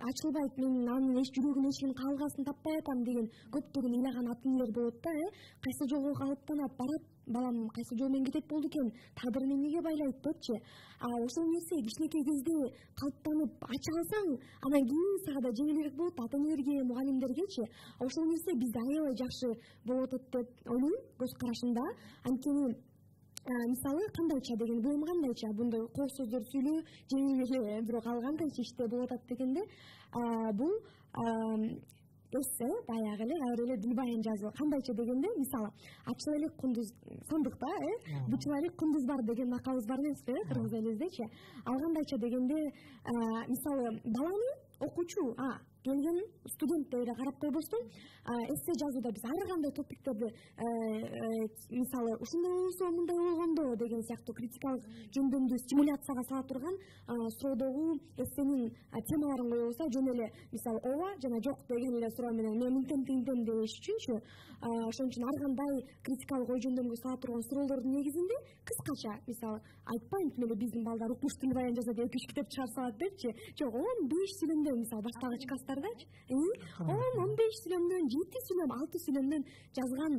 ачылбайт, мен анын жүрөгүнүн эшигин кагылгасын таппай атам деген көптөгөн ыйлаган ата энелер болот да. Кайсы жолго калыптанат, барат, балам кайсы жол менен кетет болду экен, тагдыр эмнеге байлайт депчи. Ошол нерсе кичинекей кезде калыптанып ача алсаң, анан кийин сага да жеңилирээк болот, ата энелерге, мугалимдергечи. Ошол нерсе бизде аябай жакшы болуп атат деп ойлойм, көз карашымда. Анткени мисалы кандайча деген, бул кандайча, мындай коо сөздөр сүйлөө жеңил эле, бирок ал кандайча иште болуп атат дегенде, бул эссе баягы эле кайра эле дилбаян жазуу. Кандайча дегенде, мисалы ачыл элек кундуз сандыкта, бучул элек кундуз бар деген макалыбыз бар эмеспи, кыргыз элиздечи. Ал кандайча дегенде, мисалы баланы окуучу келген студент деп эле карап койбостон, эссе жазууда биз ар кандай топиктерди мисалы ушундай болсо мындай болгондо деген сыяктуу критикалык жөндөмдүү стимуляцияга сала турган суроодогу эссенин темаларын коебуз да, жөн эле мисалы ооба жана жок деген эле суроо менен мен интем деш үчүнчү, ошон үчүн ар кандай критикалык ой жөндөмгө сала турган суроолордун негизинде кыскача, мисалы айтпайм тим эле биздин балдар укмуш дилбаян жазат, 2-3 китеп чыгарып салат депчи, жок 15 сүйлөмдөн, мисалы баштагыч класстардачы 10-15 сүйлөмдөн, 7 сүйлөм, 6 сүйлөмдөн жазган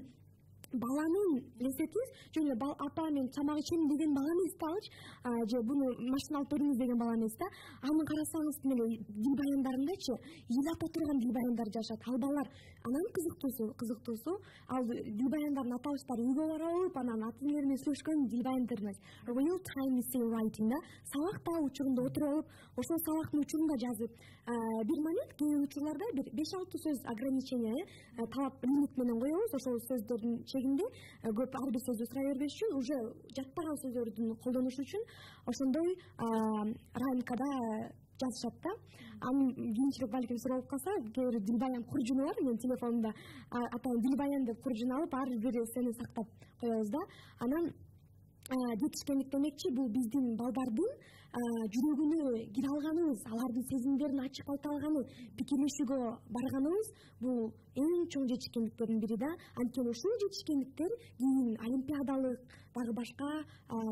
баланын лесетиз, жөн эле апа мен тамак ичем деген бала эмес да, же буну машина алып бериңиз деген бала эмес да. Аны карасаңыз тим эле дилбаяндарындачы ыйлата турган дилбаяндар жашат. Ал балдар анан кызыктуусу ал дилбаяндардын аталыштары үйгө барып алып, анан ата энелер менен сүйлөшкөн дилбаяндар эмес. Real time essay writing да, сабакта учурунда отуруп алып, ошол сабактын учурунда жазып, бир момент кээ бир учурларда бир 5-6 сөз ограничение, талап лимит менен коебуз, ошол сөздөрдүн чегинде көп ар бир сөздү сурай бербеш үчүн, уже жаттаган сөздөрдүн колдонушу үчүн ошондой рамкада жазышат да. Анын кийинчерээк балким суроо болуп калса, кээ бир дилбаян куржуну бар, менин телефонумда атайын дилбаян деп куржун алып, ар бир эссени сактап коебуз да. Анан жетишкендик демекчи бул биздин балдардын жүрөгүнө кире алганыбыз, алардын сезимдерин ачык айта алганы, пикирлешүүгө барганыбыз бул эң чоң жетишкендиктердин бири да. Анткени ушул жетишкендиктер кийин олимпиадалык дагы башка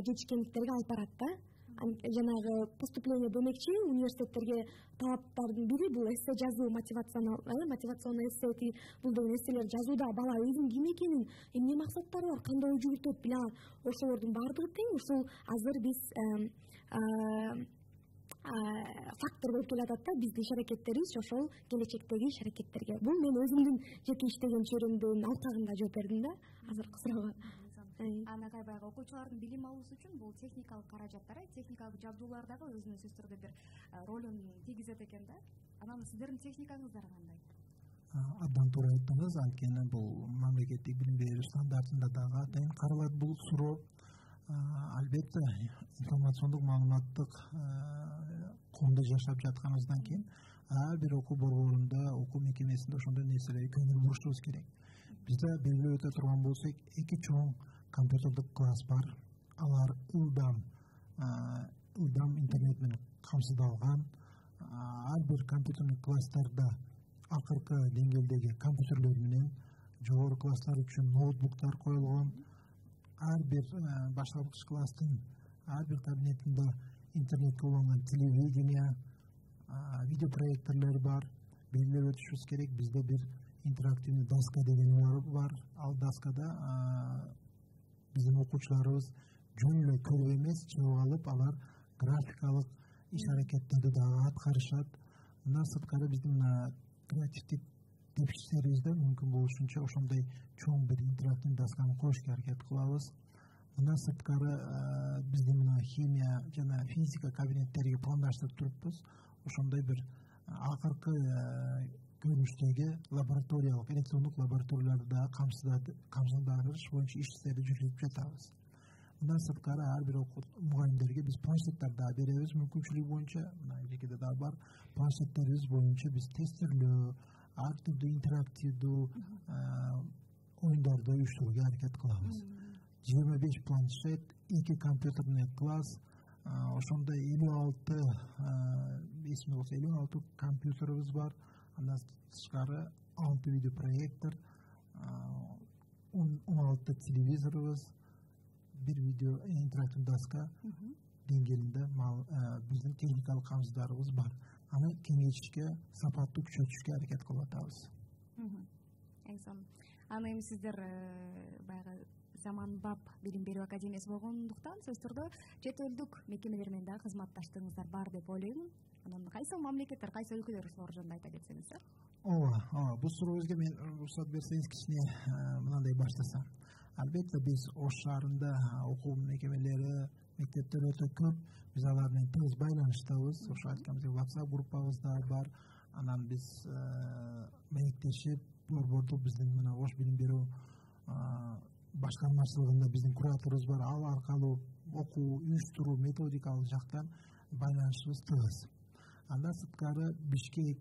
жетишкендиктерге алып барат да. Жанагы поступление демекчи университеттерге талаптардын бири бул эссе жазуу, мотивационный эссе, бул деген эсселер жазууда бала өзүнүн ким экенин, эмне максаттары бар, кандай ой жүгүртөт биле алат. Ошолордун баардыгы тең ушул азыр биз фактор болуп келатат да биздин иш аракеттерибиз ошол келечектеги иш аракеттерге. Бул мен өзүмдүн жеке иштеген чөйрөмдүн алкагында жооп бердим да азыркы суроого. Анагай баягы окуучулардын билим алуусу үчүн бул техникалык каражаттар, техникалык жабдуулар дагы өзүнүн сөзсүз түрдө бир ролун тийгизет экен да. Анан сиздердин техникаңыздар кандай? Абдан туура айттыңыз. Анткени бул мамлекеттик билим берүү стандартында дагы атайын каралат бул суроо. Албетте информациондук маалыматтык коомдо жашап жатканыбыздан кийин ар бир окуу борборунда, окуу мекемесинде ошондой нерселерге көңүл бурушубуз керек. Бизде белгилеп өтө турган болсок, 2 чоң компьютердик класс бар. Алар ылдам интернет менен камсыздалган. Ар бир компьютердик класстарда акыркы деңгээлдеги компьютерлер менен, жогору класстар үчүн ноутбуктар коюлгон. Ар бир башталгыч класстын ар бир кабинетинде интернетке уланган телевидение, видеопроекторлор бар. Белгилеп өтүшүбүз керек, бизде бир интерактивный доска деген бар. Ал доскада биздин окуучуларыбыз жөн эле көрүп эмес, чыгып алып, алар графикалык иш аракеттерди дагы аткарышат. Мындан сырткары биздин креативдик тепкичтерибизде мүмкүн болушунча ошондой чоң бир интерактивный досканы коюшка аракет кылабыз. Мындан сырткары биздин мына химия жана физика кабинеттериге пландаштырып туруппуз. Ошондой бир акыркы көрүнүштөгү лабораториялык, электрондук лабораторияларды дагы камсыздандырыш боюнча иштерди жүргүзүп жатабыз. Мындан сырткары ар бир мугалимдерге биз планшеттер дагы беребиз мүмкүнчүлүгү боюнча. Мына эжекеде дагы бар. Планшеттерибиз боюнча биз тестирлөө, ар түрдүү интерактивдүү оюндарды уюштурууга аракет кылабыз. 25 планшет, 2 компьютерный класс, ошондой 56 эсимде болсо 56 компьютерибиз бар. Андан тышкары 6 видеопроектор, 16 телевизорубуз, бир видео интерактивдүү доска деңгээлинде биздин техникалык камсыздарыбыз бар. Аны кеңейтишке, сапаттуу күчөтүшкө аракет кылып атабыз. Аны эми сиздер баягы заманбап билим берүү академиясы болгондуктан сөзсүз түрдө чет элдик мекемелер менен дагы кызматташтыгыңыздар бар деп ойлоймун. Анан кайсы мамлекеттер, кайсы өлкөлөр ушул жөнүндө айта кетсеңиз. Ооба, бул сурообузга мен уруксат берсеңиз кичине мындай баштасам. Албетте биз Ош шаарында окуу мекемелери, мектептер өтө көп. Биз алар менен тыгыз байланыштабыз. Ошо айтканыбыздай WhatsApp группабыз да бар. Анан биз маектешип, борбордук биздин мына Ош билим берүү башкармачылыгында биздин кураторубуз бар. Ал аркылуу окуу, уюштуруу, методикалык жактан байланышыбыз тыгыз. Андан сырткары Бишкек,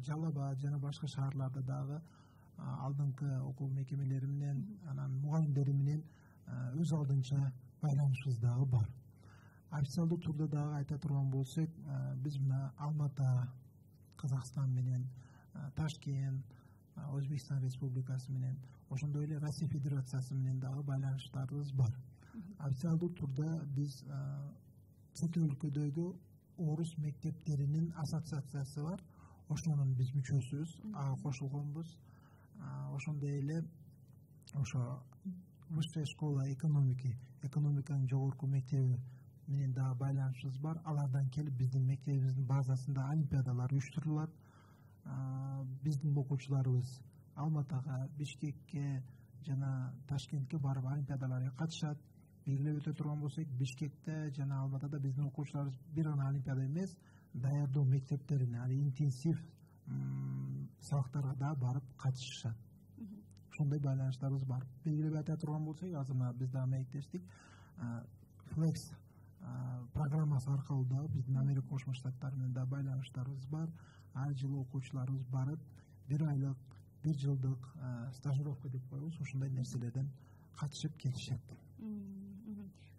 Жалал Абад жана башка шаарларда дагы алдыңкы окуу мекемелери менен, анан мугалимдери менен өз алдынча байланышыбыз дагы бар. Официалдуу турда дагы айта турган болсок, биз мына Алмата, Казакстан менен, Ташкент, Өзбекстан Республикасы менен, ошондой эле Россия Федерациясы менен дагы байланыштарыбыз бар. Официалдуу турда биз чет өлкөдөгү орус мектептеринин ассоциациясы бар. Ошонун биз мүчөсүбүз, ага кошулгонбуз. Ошондой эле ошо Высшая школа экономиканын жогорку мектеби менен дагы байланышыбыз бар. Алардан келип биздин мектебибиздин базасында олимпиадалар уюштурулат. Биздин окуучуларыбыз Алматага, Бишкекке жана Ташкентке барып олимпиадаларга катышат. Белгилеп өтө турган болсок, Бишкекте жана Алматада биздин окуучуларыбыз бир гана олимпиада эмес, даярдоо мектептерине, интенсив сабактарга да барып катышышат. Ошондой байланыштарыбыз бар. Белгилеп айта турган болсок, азыр мына биз дагы маектештик. Flex программасы аркылуу дагы биздин Америка Кошмо Штаттары менен да байланыштарыбыз бар. Ар жылы окуучуларыбыз барып, 1 айлык, 1 жылдык стажировка деп коебуз, ошондой нерселерден катышып келишет.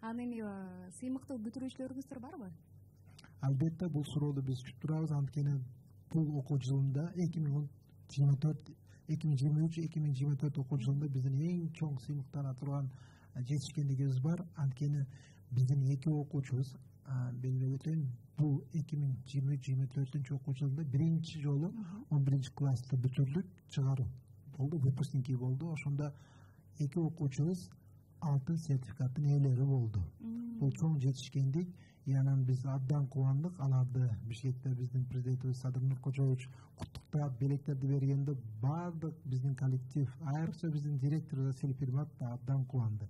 Анан эми сыймыктуу бүтүрүүчүлөрүңүздөр барбы? Албетте бул суроону биз күтүп турабыз. Анткени бул окуу жылында 2023-2024 окуу жылында биздин эң чоң сыймыктана турган жетишкендигибиз бар. Анткени биздин 2 окуучубуз белгилеп өтөйүн, бул 2023-2024 окуу жылында биринчи жолу 11 класста бүтүрдүк, чыгаруу болду, выпускники болду. Ошондо 2 окуучубуз алтын сертификаттын ээлери болду. Бул чоң жетишкендик. Анан биз абдан кубандык. Аларды Бишкекте биздин президентибиз Садыр Нуркожоевич куттуктап, белектерди бергенде баардык биздин коллектив, айрыкча биздин директор Василий Пермат да абдан кубанды.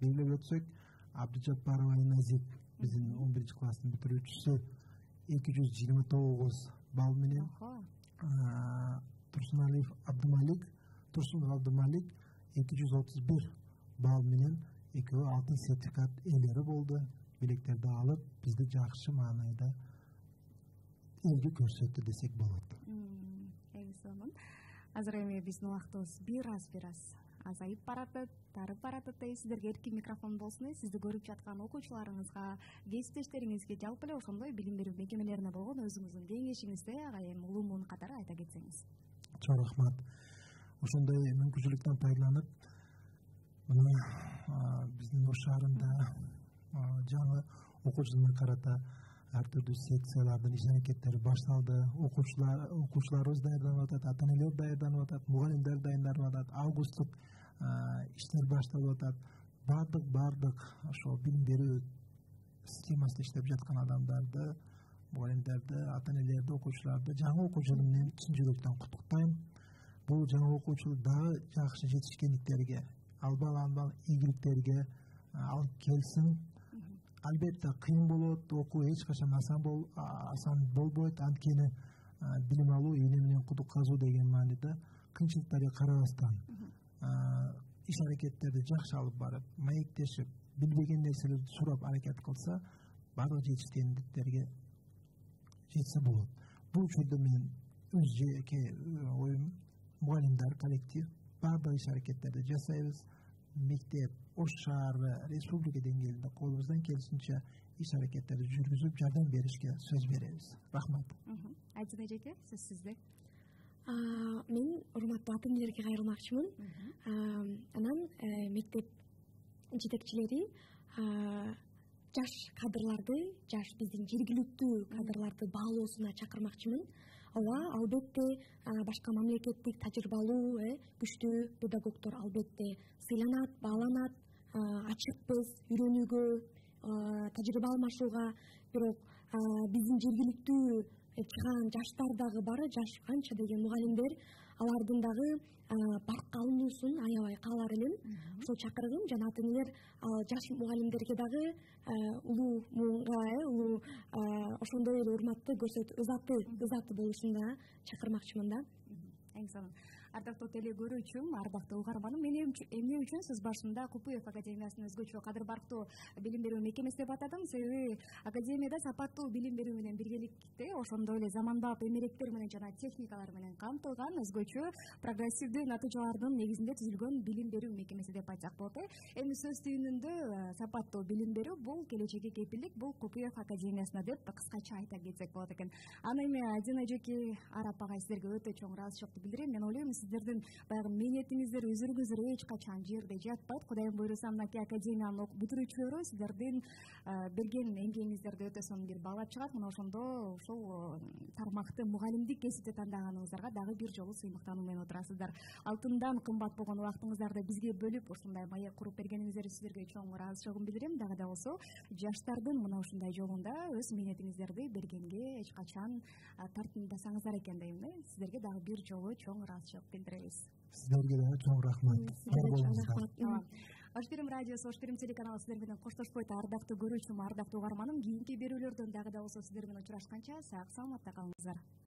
Белгилеп өтсөк, Абдыжаппарова Айназип биздин 11 класстын бүтүрүүчүсү 229 балл менен, Турсунов Абдымалик 231 балл менен экөө алтын сертификат ээлери болду. Билектерди алып, бизди жакшы маанайда элге көрсөттү десек болот. Эң сонун. Азыр эми биздин убактыбыз бир аз азайып баратат, тарып баратат. Сиздерге эркин микрофон болсун. Сизди көрүп жаткан окуучуларыңызга, кесиптештериңизге, жалпы эле ошондой билим берүү мекемелерине болгон өзүңүздүн кеңешиңизди Агайым Улуумун катары айта кетсеңиз. Чоң рахмат. Ошондой мүмкүнчүлүктөн пайдаланып, мына биздин Ош шаарында жаңы окуу жылына карата ар түрдүү секциялардын иш аракеттери башталды. Окуучуларыбыз даярданып атат, ата-энелер даярданып атат, мугалимдер даярданып атат, августтук иштер башталып атат. Баардык ошо билим берүү системасында иштеп жаткан адамдарды, мугалимдерди, ата-энелерди, окуучуларды жаңы окуу жылы менен чын жүрөктөн куттуктайм. Бул жаңы окуу жыл дагы жакшы жетишкендиктерге, албан ийгиликтерге алып келсин. Албетте кыйын болот, окуу эч качан асан болбойт. Анткени билим алуу ийне менен кудук казуу деген мааниде кыйынчылыктарга карабастан иш аракеттерди жакшы алып барып, маектешип, билбеген нерселерди сурап аракет кылса, баардык жетишкендиктерге жетсе болот. Бул учурда мен өз жеке оюм, мугалимдер, коллектив баардык иш аракеттерди жасайбыз. Мектеп, Ош шаары, республика деңгээлинде колубуздан келишинче иш аракеттерди жүргүзүп, жардам беришке сөз беребиз. Рахмат. Айдина эжеке, сөз сизде. Мен урматтуу ата-энелерге кайрылмакчымын. Анан мектеп жетекчилери жаш кадрларды, биздин жергиликтүү кадрларды баалоосуна чакырмакчымын. Ооба, албетте башка мамлекеттик тажрыйбалуу, күчтүү педагогдор албетте сыйланат, бааланат, ачыкпыз үйрөнүүгө, тажрыйба алмашууга. Бирок биздин жергиликтүү чыган жаштар дагы бар, жаш канча деген мугалимдер, алардын дагы паркка алынуусун аябай каалар элем. Ошол чакыргым жана ата-энелер жаш мугалимдерге дагы улуу муунга, ошондой эле урматты ызаты болушуна чакырмакчымын да. Эң сонун. Ардактуу теле көрүүчүм, ардактуу угарманым, эмне үчүн сиз башында Купуев академиясын өзгөчө кадыр барктуу билим берүү мекемеси деп атадым? Себеби академияда сапаттуу билим берүү менен биргеликте ошондой эле заманбап эмеректер менен жана техникалар менен камтылган өзгөчө прогрессивдүү натыйжалардын негизинде түзүлгөн билим берүү мекемеси деп айтсак болот. Эми сөз түйүнүндө сапаттуу билим берүү бул келечекке кепилдик, бул Купуев академиясына деп кыскача айта кетсек болот экен. Аны эми Айдина эжеке, Арап агай, сиздерге өтө чоң ыраазычылыкты билдирем. Мен ойлойм, сиздердин баягы мээнетиңиздер, өзүңүздөр эч качан жерде жатпайт. Кудайым буйруса, мынакей академиянын бүтүрүүчүлөрү сиздердин берген эмгегиңиздерди өтө сонун бир баалап чыгат. Мына ошондо ушул тармакты мугалимдик кесипти тандаганыңыздарга дагы бир жолу сыймыктануу менен отурасыздар. Алтындан кымбат болгон убактыңыздарды бизге бөлүп, ушундай маек куруп бергениңиздер сиздерге чоң ыраазычылыгымды билдирем. Дагы да болсо, жаштардын мына ушундай жолунда өз мээнетиңиздерди бергенге эч качан тартындасаңыздар экен дейм. Сиздерге дагы бир жолу чоң ыраазычылык билдиребиз. Сиздерге дагы чоң рахмат. Ош Перим радиосу, Ош Перим телеканалы сиздер менен коштошпойт. Ардактуу көрүүчүм, ардактуу угарманым, кийинки берүүлөрдөн дагы да болсо сиздер менен учурашканча сак саламатта калыңыздар.